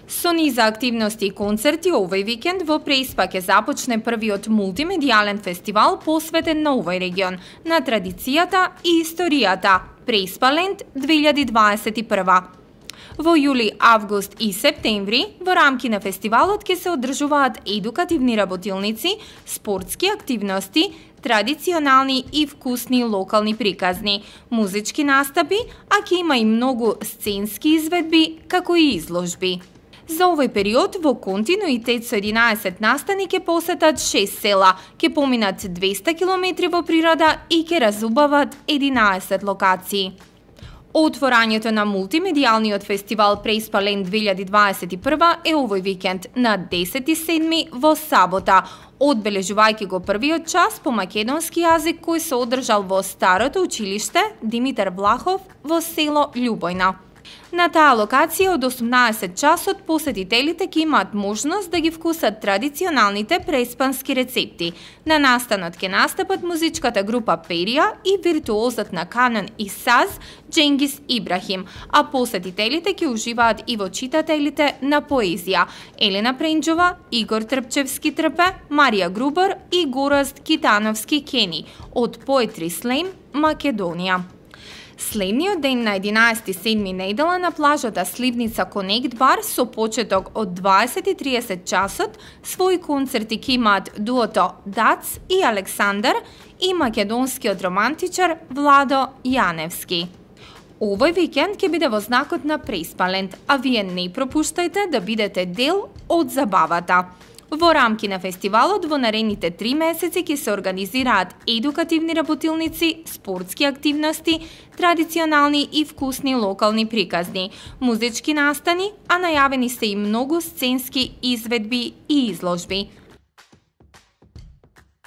Со низа активности и концерти овој викенд во Преспа ќе започне првиот мултимедијален фестивал посветен на овој регион, на традицијата и историјата Преспаленд 2021. Во јули, август и септември во рамки на фестивалот ќе се одржуваат едукативни работилници, спортски активности, традиционални и вкусни локални приказни, музички настапи, а ќе има и многу сценски изведби, како и изложби. За овој период во континуитет со 11 настани ќе посетат 6 села, ќе поминат 200 километри во природа и ќе разубават 11 локации. Отворањето на мултимедијалниот фестивал Преспаленд 2021 е овој викенд на 10.7. во сабота, одбележувајќи го првиот час по македонски јазик кој се одржал во Старото училиште Димитар Влахов во село Љубојна. На таа локација од 18 часот посетителите ќе имаат можност да ги вкусат традиционалните преспански рецепти. На настанот ќе настапат музичката група Перија и виртуозот на канон и саз Дженгис Ибрахим, а посетителите ќе уживаат и во читателите на поезија Елена Пренџова, Игор Трпчевски Трпе, Марија Грубар и Гораст Китановски Кени од Poetry Slam Македонија. Следниот ден на 11.7. недела на плажата Сливница Конект бар со почеток од 20:30 часот свој концерти ќе имаат дуото Дац и Александар и македонскиот романтичар Владо Јаневски. Овој викенд ќе биде во знакот на Преспаленд, а вие не пропуштајте да бидете дел од забавата. Во рамки на фестивалот во наредните 3 месеци ќе се организираат едукативни работилници, спортски активности, традиционални и вкусни локални приказни, музички настани, а најавени се и многу сценски изведби и изложби.